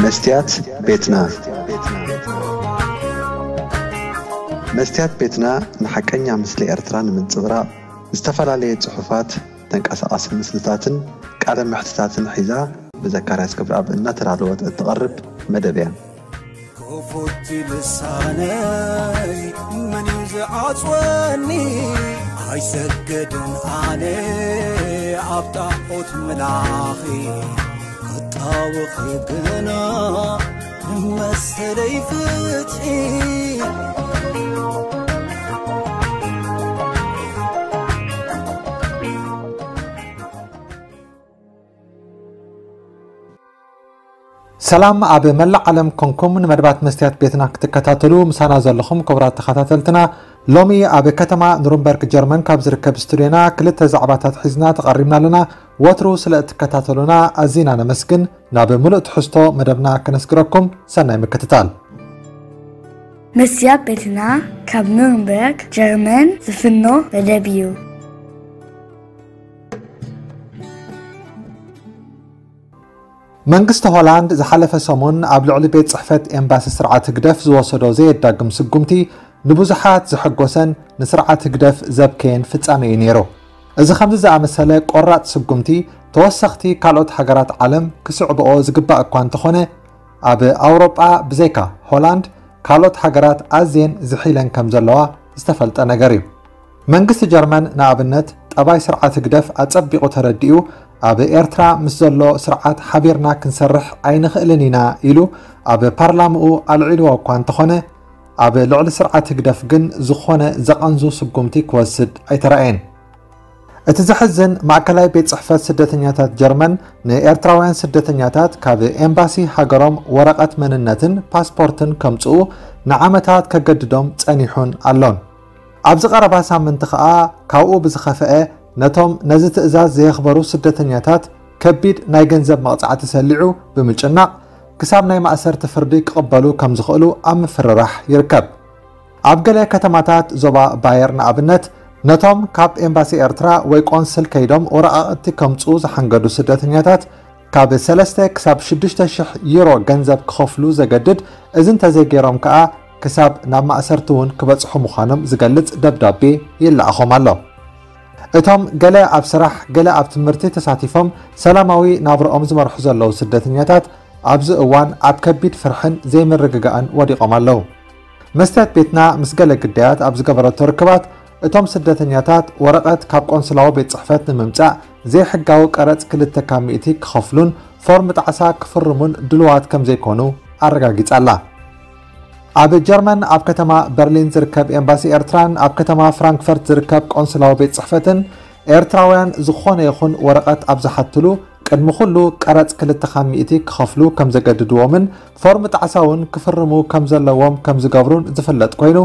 መስትያት ቤትና። መስትያት ቤትና ንሓቀኛ ምስሊ ኤርትራ ንምንጽብራቕ፣ ዝተፈላለየ ጽሑፋት፣ ተንቀሳቓሲ ምስልታትን ቃለ መሕትታትን ሒዛ ብዘካርያስ ክብረኣብ እናተዳለወት እትቐርብ መደብ እያ። ክፉት ልሳነይ መን እዩ ዝዓጽወኒ? ኣይሰገድን ኣነ ኣብ ጣዖት ምላኺ፣ ክጣወኺ ግና ንመሰለይ ፍትሒ። ሰላም ኣብ መላእ ዓለም ኮንኩም ንመደባት መስትያት ቤትና ክትከታተሉ ምሳና ዘለኹም ክቡራት ተኸታተልትና፣ ሎሚ ኣብ ከተማ ኑርንበርግ ጀርመን ካብ ዝርከብ ስቱድዮና ክልተ ዛዕባታት ሒዝና ተቐሪብና ኣለና። ወትሩ ስለ እትከታተሉና ኣዚና ነመስግን። ናብ ምሉእ ትሕዝቶ መደብና ከነስግረኩም፣ ሰናይ ምክትታል። መስትያት ቤትና ካብ ኑርንበርግ ጀርመን ዝፍኖ መደብ እዩ። መንግስቲ ሆላንድ ዝሓለፈ ሰሙን ኣብ ልዕሊ ቤት ጽሕፈት ኤምባሲ ስርዓት ህግደፍ ዝወሰዶ ዘየዳግም ስጉምቲ ንብዙሓት ዘሐጎሰን ንስርዓት ህግደፍ ዘብከየን ፍጻመ እዩ ነይሩ። እዚ ከምዚ ዝኣመሰለ ቆራጽ ስጉምቲ ተወሰኽቲ ካልኦት ሃገራት ዓለም ክስዕብኦ ዝግባእ እኳ እንተኾነ፣ ኣብ ኣውሮጳ ብዘይካ ሆላንድ ካልኦት ሃገራት ኣዝየን ዝሒለን ከም ዘለዋ ዝተፈልጠ ነገር እዩ። መንግስቲ ጀርመን ንኣብነት ጠባይ ስርዓት ህግደፍ ኣጸቢቑ ተረዲኡ፣ ኣብ ኤርትራ ምስ ዘሎ ስርዓት ሓቢርና ክንሰርሕ ኣይንኽእልን ኢና ኢሉ ኣብ ፓርላምኡ ኣልዒልዎ እኳ እንተኾነ፣ ኣብ ልዕሊ ስርዓት ህግደፍ ግን ዝኾነ ዘቐንዙ ስጉምቲ ክወስድ ኣይተራእየን። እቲ ዘሕዝን፣ ማእከላይ ቤት ጽሕፈት ስደተኛታት ጀርመን ንኤርትራውያን ስደተኛታት ካብ ኤምባሲ ሃገሮም ወረቐት መንነትን ፓስፖርትን ከምጽኡ ንዓመታት ከገድዶም ጸኒሑን ኣሎን። ኣብዚ ቀረባ ሳምንቲ ከኣ ካብኡ ብዝኸፍአ ነቶም ነዚ ትእዛዝ ዘየኽበሩ ስደተኛታት ከቢድ ናይ ገንዘብ መቕጻዕቲ ሰሊዑ ብምጭናቕ ክሳብ ናይ ማእሰርቲ ፍርዲ ክቕበሉ ከም ዝኽእሉ ኣብ ምፍርራሕ ይርከብ። ኣብ ገለ ከተማታት ዞባ ባየር ንኣብነት ነቶም ካብ ኤምባሲ ኤርትራ ወይ ቆንስል ከይዶም ወረቓቕቲ ከምጽኡ ዝሓንገዱ ስደተኛታት ካብ ሰለስተ ክሳብ ሽዱሽተ ሽሕ ዩሮ ገንዘብ ክኸፍሉ ዘገድድ፣ እዚ እንተዘይገይሮም ከኣ ክሳብ ናብ ማእሰርቲ እውን ክበጽሑ ምዃኖም ዝገልጽ ደብዳቤ ይለኣኾም ኣሎ። እቶም ገለ ኣብ ስራሕ፣ ገለ ኣብ ትምህርቲ ተሳቲፎም ሰላማዊ ናብርኦም ዝመርሑ ዘለዉ ስደተኛታት ኣብዚ እዋን ኣብ ከቢድ ፍርሕን ዘይምርግጋእን ወዲቖም ኣለዉ። መስትያት ቤትና ምስ ገለ ግዳያት ኣብ ዝገበረቶ ርክባት፣ እቶም ስደተኛታት ወረቐት ካብ ቆንስላዊ ቤት ጽሕፈት ንምምጻእ ዘይሕጋዊ ቀረጽ ክልተ ካብ ሚእቲ ክኸፍሉን ፎርም ጣዕሳ ክፍርሙን ድሉዋት ከም ዘይኮኑ ኣረጋጊጻ ኣላ። ኣብ ጀርመን ኣብ ከተማ በርሊን ዝርከብ ኤምባሲ ኤርትራን ኣብ ከተማ ፍራንክፈርት ዝርከብ ቆንስላዊ ቤት ጽሕፈትን ኤርትራውያን ዝኾነ ይኹን ወረቐት ኣብ ዝሓትሉ ቅድሚ ኩሉ ቀረጽ ክልተ ካብ ሚእቲ ክኸፍሉ ከም ዘገድድዎምን ፎርም ጣዕሳ እውን ክፍርሙ ከም ዘለዎም ከም ዝገብሩን ዝፍለጥ ኮይኑ፣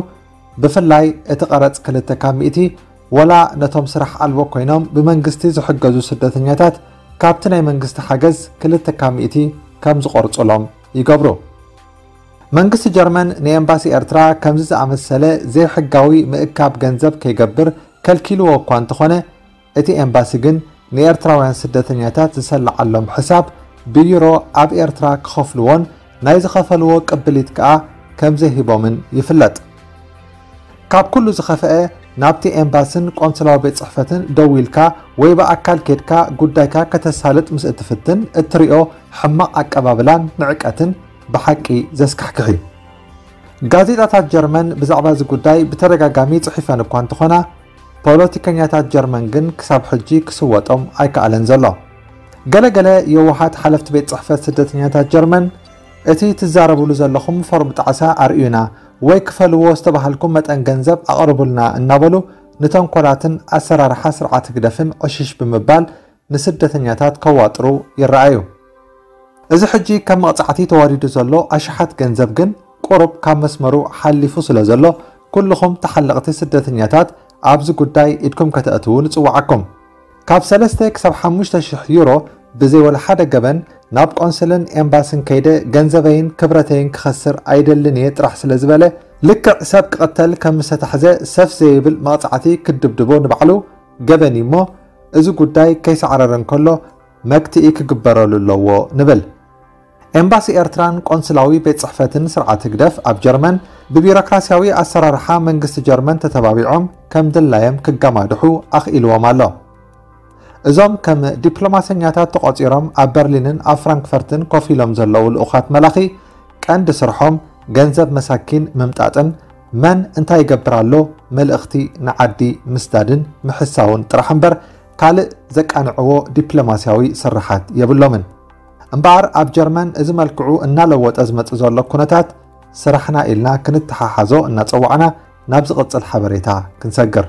ብፍላይ እቲ ቀረጽ ክልተ ካብ ሚእቲ ወላ ነቶም ስራሕ ኣልቦ ኮይኖም ብመንግስቲ ዝሕገዙ ስደተኛታት ካብቲ ናይ መንግስቲ ሓገዝ ክልተ ካብ ሚእቲ ከም ዝቖርጹሎም ይገብሩ። መንግስቲ ጀርመን ንኤምባሲ ኤርትራ ከምዚ ዝኣመሰለ ዘይሕጋዊ ምእካብ ገንዘብ ከይገብር ከልኪልዎ እኳ እንተኾነ፣ እቲ ኤምባሲ ግን ንኤርትራውያን ስደተኛታት ዝሰልዓሎም ሕሳብ ብዩሮ ኣብ ኤርትራ ክኸፍልዎን ናይ ዝኸፈልዎ ቅብሊት ከኣ ከም ዘይሂቦምን ይፍለጥ። ካብ ኩሉ ዝኸፍአ፣ ናብቲ ኤምባስን ቆንስላዊ ቤት ጽሕፈትን ደዊልካ ወይ ብኣካል ኬድካ ጉዳይካ ከተሳልጥ ምስ እትፍትን እትሪኦ ሕማቕ ኣቀባብላን ንዕቀትን ብሓቂ ዘስካሕክሕ እዩ። ጋዜጣታት ጀርመን ብዛዕባ እዚ ጉዳይ ብተደጋጋሚ ጽሒፈን እኳ እንተኾና፣ ፖለቲከኛታት ጀርመን ግን ክሳብ ሕጂ ክስወጦም ኣይከኣለን ዘሎ። ገለገለ የዋሃት ሓለፍቲ ቤት ጽሕፈት ስደተኛታት ጀርመን፣ እቲ ትዛረብሉ ዘለኹም ፎርም ጣዕሳ ኣርእዩና ወይ ክፈልዎ ዝተባሃልኩም መጠን ገንዘብ ኣቕርቡልና እናበሉ ንተንኮላትን ኣሰራርሓ ስርዓት ህግደፍን ዕሽሽ ብምባል ንስደተኛታት ከዋጥሩ ይረኣዩ። እዚ ሕጂ ከም መቕጻዕቲ ተዋዲዱ ዘሎ ኣሽሓት ገንዘብ ግን ቁሩብ ካብ መስመሩ ሓሊፉ ስለ ዘሎ፣ ኩልኹም ተሓለቕቲ ስደተኛታት ኣብዚ ጉዳይ ኢድኩም ከተእትዉ ንጽውዓኩም። ካብ ሰለስተ ክሳብ ሓሙሽተ ሽሕ ዩሮ ብዘይ ወላ ሓደ ገበን ናብ ቆንስልን ኤምባስን ከይደ ገንዘበይን ክብረተይን ክኸስር ኣይደልን እየ ጥራሕ ስለ ዝበለ፣ ልክዕ ሰብ ክቕተል ከም ዝተታሕዘ ሰፍ ዘይብል መቕጻዕቲ ክድብድቦ ንባዕሉ ገበን እዩ እሞ፣ እዚ ጉዳይ ከይሰዕረረ እንከሎ መክትኢ ክግበረሉ ኣለዎ ንብል። ኤምባሲ ኤርትራን ቆንስላዊ ቤት ጽሕፈትን ስርዓት ህግደፍ ኣብ ጀርመን ብቢሮክራሲያዊ ኣሰራርሓ መንግስቲ ጀርመን ተተባቢዖም ከም ድላዮም ክገማድሑ ኣኽኢልዎም ኣሎ። እዞም ከም ዲፕሎማሰኛታት ተቖጺሮም ኣብ በርሊንን ኣብ ፍራንክፈርትን ኮፍ ኢሎም ዘለዉ ልኡኻት መላኺ ቀንዲ ስርሖም ገንዘብ መሳኪን ምምጣጥን መን እንታይ ይገብር ኣሎ መልእኽቲ ንዓዲ ምስዳድን ምሕሳውን ጥራሕ እምበር ካልእ ዘቃንዕዎ ዲፕሎማሲያዊ ስርሓት የብሎምን። እምበኣር ኣብ ጀርመን እዚ መልክዑ እናለወጠ ዝመጽእ ዘሎ ኩነታት ስራሕና ኢልና ክንተሓሓዞ እናጸዋዕና ናብ ዝቕጽል ሓበሬታ ክንሰግር።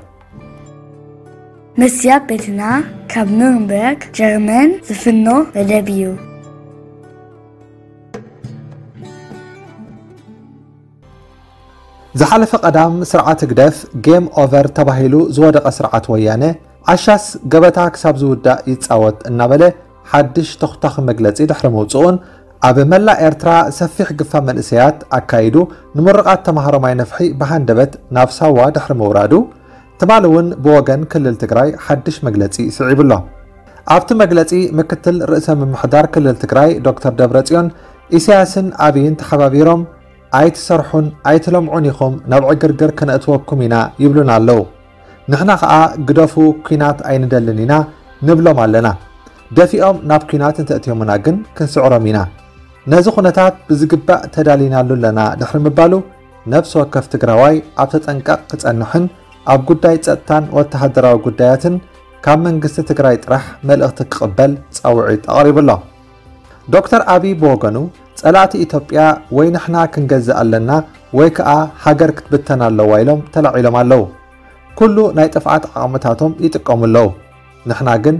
መስትያት ቤትና ካብ ኑርንበርግ ጀርመን ዝፍኖ መደብ እዩ። ዝሓለፈ ቀዳም ስርዓት ህግደፍ ጌም ኦቨር ተባሂሉ ዝወደቐ ስርዓት ወያነ ዓሻስ ገበታ ክሳብ ዝውዳእ ይጻወት እናበለ ሓድሽ ተኹታኺ መግለጺ ድሕሪ ምውጽኡን ኣብ መላእ ኤርትራ ሰፊሕ ግፋ መንእሰያት ኣካይዱ ንምርቓት ተማሃሮ ማይ ነፍሒ ብሃንደበት ናብ ሳዋ ድሕሪ ምውራዱ ትማሊ እውን ብወገን ክልል ትግራይ ሓድሽ መግለጺ ስዒቡ ኣሎ። ኣብቲ መግለጺ ምክትል ርእሰ ምምሕዳር ክልል ትግራይ ዶክተር ደብረጽዮን ኢሳያስን ኣብይን ተሓባቢሮም ኣይትሰርሑን ኣይትለምዑን ኢኹም ናብ ዕግርግር ክነእትወኩም ኢና ይብሉና ኣለዉ። ንሕና ኸኣ ግደፉ ኲናት ኣይንደልን ኢና ንብሎም ኣለና። ደፊኦም ናብ ኲናት እንተእትዮምና ግን ክንስዕሮም ኢና። ነዚ ኩነታት ብዝግባእ ተዳሊናሉ ኣለና ድሕሪ ምባሉ ነፍሲ ወከፍ ትግራዋይ ኣብ ተጠንቀቕ ክጸንሕን ኣብ ጉዳይ ጸጥታን ወተሃደራዊ ጉዳያትን ካብ መንግስቲ ትግራይ ጥራሕ መልእኽቲ ክቕበል ጻውዒት ኣቕሪቡ ኣሎ። ዶክተር ኣብይ ብወገኑ ጸላእቲ ኢትዮጵያ ወይ ንሕና ክንገዝእ ኣለና ወይ ከኣ ሃገር ክትብተን ኣለዋ ኢሎም ተላዒሎም ኣለዉ። ኩሉ ናይ ጥፍኣት ዓቕምታቶም ይጥቀሙ ኣለዉ። ንሕና ግን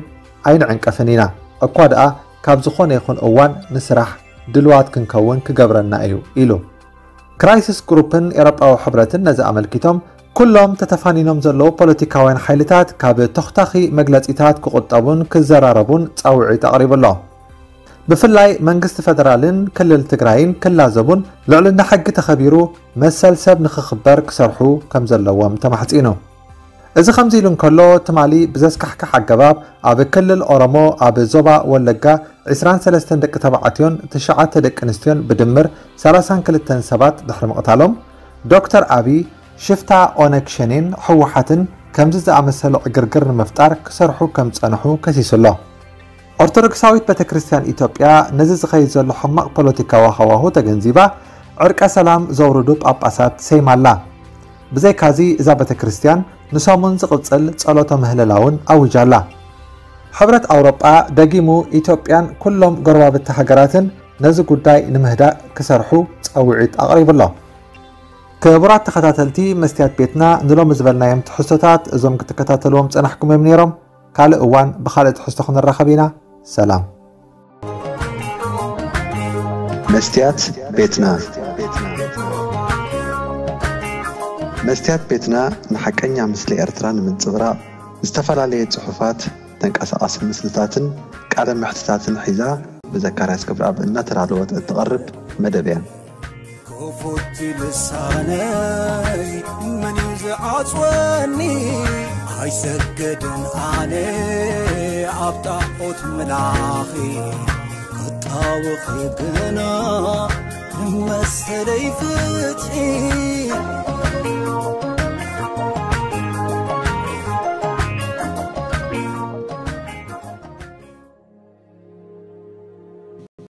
ኣይንዕንቀፍን ኢና። እኳ ደኣ ካብ ዝኾነ ይኹን እዋን ንስራሕ ድልዋት ክንከውን ክገብረና እዩ ኢሉ። ክራይሲስ ግሩፕን ኤውሮጳዊ ሕብረትን ነዚ ኣመልኪቶም ኩሎም ተተፋኒኖም ዘለዉ ፖለቲካውያን ሓይልታት ካብ ተኹታኺ መግለጺታት ክቑጠቡን ክዘራረቡን ጻውዒት ኣቕሪቡ ኣሎ። ብፍላይ መንግስቲ ፈደራልን ክልል ትግራይን ክላዘቡን ልዕልና ሕጊ ተኸቢሩ መሰል ሰብ ንኽኽበር ክሰርሑ ከም ዘለዎም ተማሕጺኑ። እዚ ከምዚ ኢሉ እንከሎ ትማሊ ብዘስካሕክሕ ኣገባብ ኣብ ክልል ኦሮሞ ኣብ ዞባ ወለጋ ዕስራን ሰለስተን ደቂ ተባዕትዮን ትሽዓተ ደቂ ኣንስትዮን ብድምር ሰላሳን ክልተን ሰባት ድሕሪ ምቕታሎም ዶክተር ኣብይ ሽፍታ ኦነግ ሸኔን ህወሓትን ከምዚ ዝኣመሰለ ዕግርግር ንምፍጣር ክሰርሑ ከም ዝጸንሑ ከሲሱ ኣሎ። ኦርቶዶክሳዊት ቤተ ክርስቲያን ኢትዮጵያ ነዚ ዝኸይድ ዘሎ ሕማቕ ፖለቲካዊ ሃዋሁ ተገንዚባ ዕርቀ ሰላም ዘውርዱ ጳጳሳት ሰይማ ኣላ። ብዘይካዚ እዛ ቤተ ክርስቲያን ንሰሙን ዝቕጽል ጸሎተ ምህለላ እውን ኣዊጃ ኣላ። ሕብረት ኣውሮጳ ደጊሙ ኢትዮጵያን ኩሎም ጎረባብቲ ሃገራትን ነዚ ጉዳይ ንምህዳእ ክሰርሑ ጸውዒት ኣቕሪቡ ኣሎ። ክቡራት ተኸታተልቲ መስትያት ቤትና ንሎሚ ዝበልናዮም ትሕዝቶታት እዞም ክትከታተልዎም ጸናሕኩም እዮም ነይሮም። ካልእ እዋን ብኻልእ ትሕዝቶ ክንራኸብ ኢና። ሰላም። መስትያት ቤትና መስትያት ቤትና ንሓቀኛ ምስሊ ኤርትራ ንምንጽብራቕ ዝተፈላለየ ጽሑፋት፣ ተንቀሳቓሲ ምስልታትን ቃለ መሕትታትን ሒዛ ብዘካርያስ ገብረኣብ እናተዳለወት እትቐርብ መደብ እያ። ክፉት ልሳነይ መን እዩ ዝዓጽወኒ? ኣይሰግድን ኣነ ኣብ ጣዖት ምላኺ ክጣወኺ ግና ንመሰለይ ፍትሒ